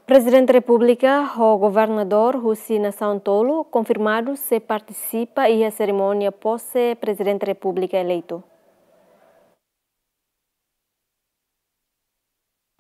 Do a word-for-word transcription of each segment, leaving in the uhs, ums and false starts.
Prezidente Repúblika ho governadór husi nasaun tolu konfirmadu sei partisipa iha serimónia pose Prezidente Repúblika eleitu.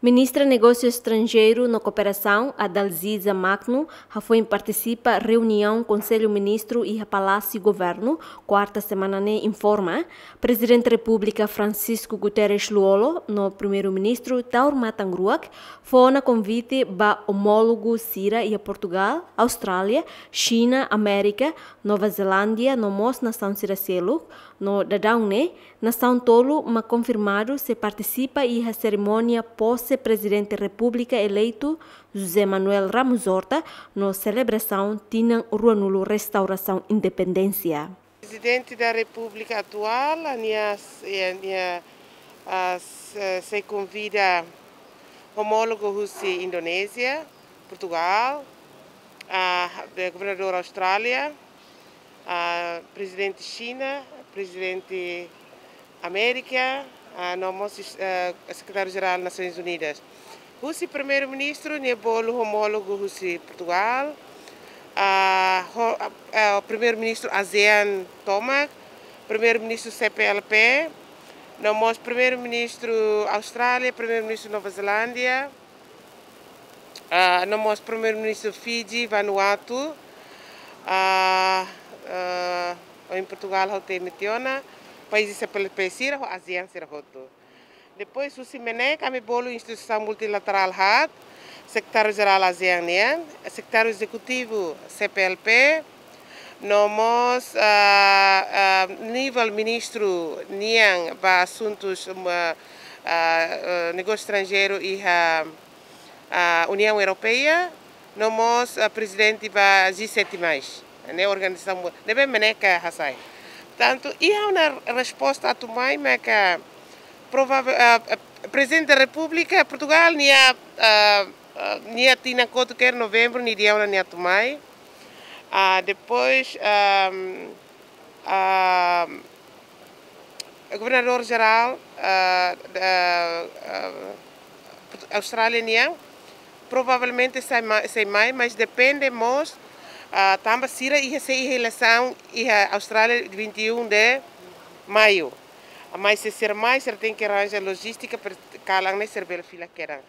Ministra Negósiu Estranjeiru no Kooperasaun, Adalziza Magno, hafoin partisipa reuniaun Konsellu Ministru iha Palásiu Governu, kuarta semana ne'e, informa Prezidente Repúblika Francisco Guterres Lú-Olo no Primeiru-Ministru Taur Matan Ruak fó ona konvite ba omólogu sira iha Portugál, Austrália, Xina, Amérika, Nova Zelándia no mós nasaun sira seluk, no daudaun ne'e nasaun tolu mak konfirmadu sei partisipa iha serimónia pose Prezidente Repúblika eleitu José Manuel Ramos Horta no selebrasaun tinan ruanulu restaurasaun independénsia. Prezidente da Repúblika atuál, nia, nia, ah, se, sei konvida omólogu husi Indonézia, Portugál, ah, governadór Austrália, ah, prezidente Xina, prezidente Amérika, ah, no mós, ah, Sekretáriu-Jerál Nasoins Unidas. Husi Primeiru-Ministru, nia bolu omólogu husi Portugál, ah, ho-, ah, Primeiru-Ministru ASEAN tomak, Primeiru-Ministru C P L P, no mós Primeiru-Ministru Austrália, Primeiru-Ministru Nova Zelándia, ah, no mós Primeiru-Ministru Fiji, Vanuatu, ah, ah, ohin Portugál ha'u temi tiha ona, país C P L P sira, ho ASEAN sira hotu. Depois, husi MNEK, ami bolu instituisaun multilaterál haat, Sekretáriu-Jerál ASEAN nian, Sekretáriu Ezekutivu C P L P, no mós, ah, ah, nivel ministru nian ba asuntus, um, ah, ah, ah, negósiu estranjeiru iha, ah, Uniaun Europeia, no mós, ah, prezidente ba G sete mais, ne'e organizasaun mu-, ne'ebé MNEK hasai. Tantu, iha ona resposta atu mai, maka provável, ah, ah, Prezidente da Repúblika Portugál, nia, ah, ah, nia tinan kotuk kedas, novembru, nia dehan ona nia atu mai. Ah, depois, ah, ah, Governadór Jerál, ah, da, ah, Austrália nian, provavelmente sei ma-, sei mai, mas depende mós, ah, tanba sira iha, sei iha eleisaun iha Austrália vinte e um de maio. Mas se sira mai, sira tenke arranja lojístika para kalan ne'e sira bele fila kedas.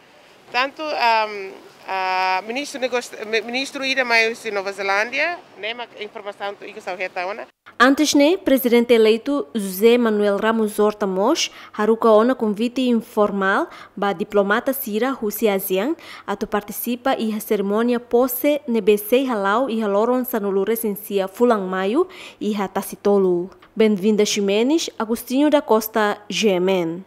Tantu, am, ah, ministru negósiu, mi-, ministru ida mai husi Nova Zelándia, ne'e mak informasaun tuir ha'u hetan ona. Antes ne'e, Prezidente eleitu José Manuel Ramos Horta mós haruka ona konvite informál ba diplomata sira husi ASEAN atu partisipa iha serimónia pose ne'ebé sei hala'o iha loron sanulu-resin-sia fulan Maiu iha Tasitolu. Benvinda Ximenes, Agostinho da Costa, G M N.